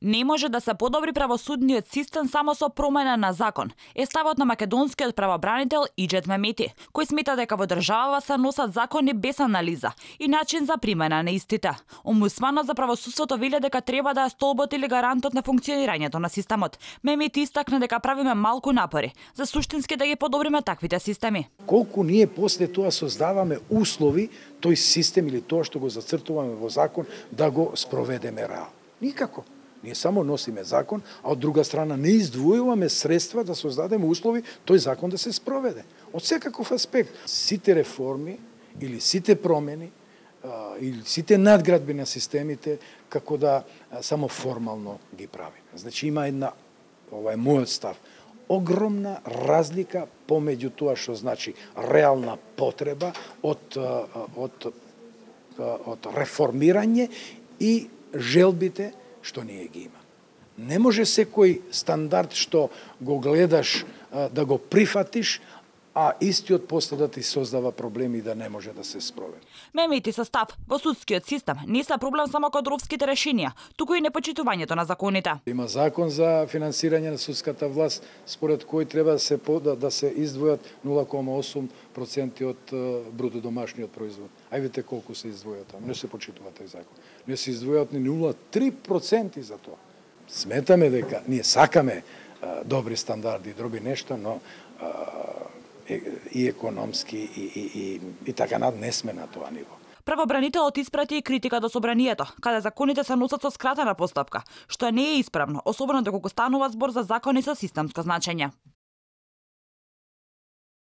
Не може да се подобри правосудниот систем само со промена на закон, е ставот на македонскиот правобранител Иџет Мемети, кој смета дека во државава се носат закони без анализа и начин за примена на истите. Омбудсманот за правосудството вели дека треба да е столбот или гарантот на функционирањето на системот. Мемети истакна дека правиме малку напори за суштински да ги подобриме таквите системи. Колку ние после тоа создаваме услови тој систем или тоа што го зацртуваме во закон да го спроведеме реално? Никако. Ние само носиме закон, а од друга страна не издвојуваме средства да создадеме услови тој закон да се спроведе. Од секаков аспект, сите реформи или сите промени или сите надградби на системите како да само формално ги прави. Значи има една, ова е мојот став, огромна разлика помеѓу тоа што значи реална потреба од реформирање и желбите што ние ги има. Не може секој стандард што го гледаш да го прифатиш, а истиот после да ти создава проблеми и да не може да се спроведе. Мемети со став во судскиот систем не се проблем само кадровските решенија, туку и непочитувањето на законите. Има закон за финансирање на судската власт, според кој треба да се издвојат 0,8% од бруто домашниот производ. Ај видите колку се издвојат таму. Не се почитува тој закон. Не се издвојат ни 0,3% за тоа. Сметаме дека ние сакаме добри стандарди, добри нешта, но и економски и така над не сме на тоа ниво. Правобранителот испрати и критика до собранието, каде законите се носат со скратена постапка, што не е исправно, особено доколку станува збор за закони со системско значење.